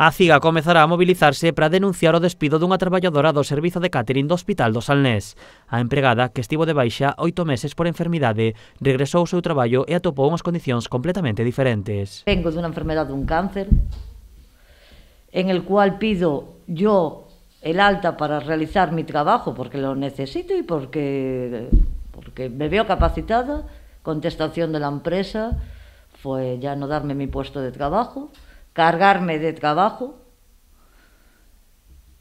A CIGA comezará a mobilizarse para denunciar o despido dunha traballadora do servizo de catering do Hospital do Salnés. A empregada, que estivo de baixa 8 meses por enfermidade, regresou ao seu traballo e atopou unhas condicións completamente diferentes. Vengo dunha enfermedade dun cáncer, en el cual pido yo el alta para realizar mi trabajo porque lo necesito y porque me veo capacitada. Contestación de la empresa fue ya no darme mi puesto de trabajo, cargarme de trabajo,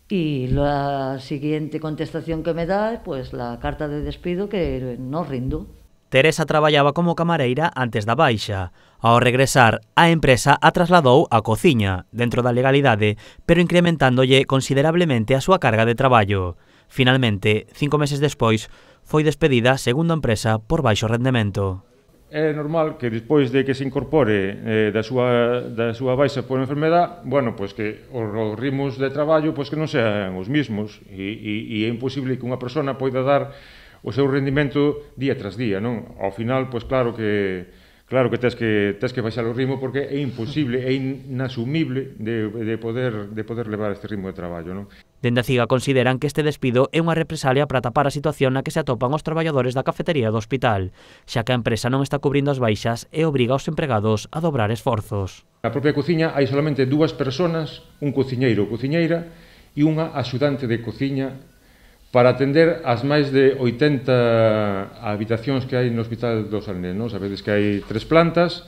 y la siguiente contestación que me da, pues la carta de despido que no rindo. Teresa traballaba como camareira antes da baixa. Ao regresar, a empresa a trasladou á cociña, dentro da legalidade, pero incrementándolle considerablemente a súa carga de traballo. Finalmente, 5 meses despois, foi despedida, segundo a empresa, por baixo rendemento. É normal que despois de que se incorpore da súa baixa por enfermedade, bueno, pois que os ritmos de traballo pois que non sean os mismos e é imposible que unha persona poida dar o seu rendimento día tras día, non? Ao final, pois claro que tes que baixar o ritmo porque é imposible, é inasumible de poder levar este ritmo de traballo, non? Dende a CIGA consideran que este despido é unha represalia para tapar a situación na que se atopan os traballadores da cafetería do hospital, xa que a empresa non está cubrindo as baixas e obriga aos empregados a dobrar esforzos. Na propia cociña hai solamente 2 persoas, un cociñeiro ou cociñeira e unha axudante de cociña para atender as máis de 80 habitacións que hai no Hospital do Salnés, non? Sabedes que hai 3 plantas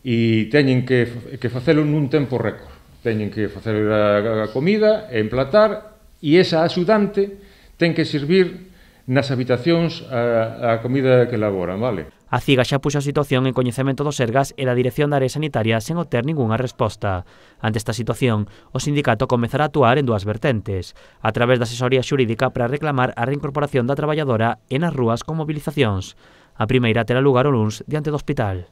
e teñen que facelo nun tempo récord. Teñen que facer a comida, emplatar, e esa axudante ten que servir nas habitacións a comida que elaboran, vale? A CIGA xa puxo a situación en coñecemento do Sergas e da Dirección da Área Sanitaria sen obter ningunha resposta. Ante esta situación, o sindicato comezará a actuar en 2 vertentes, a través da asesoría xurídica para reclamar a reincorporación da traballadora e nas rúas con movilizacións. A primeira terá lugar o luns diante do hospital.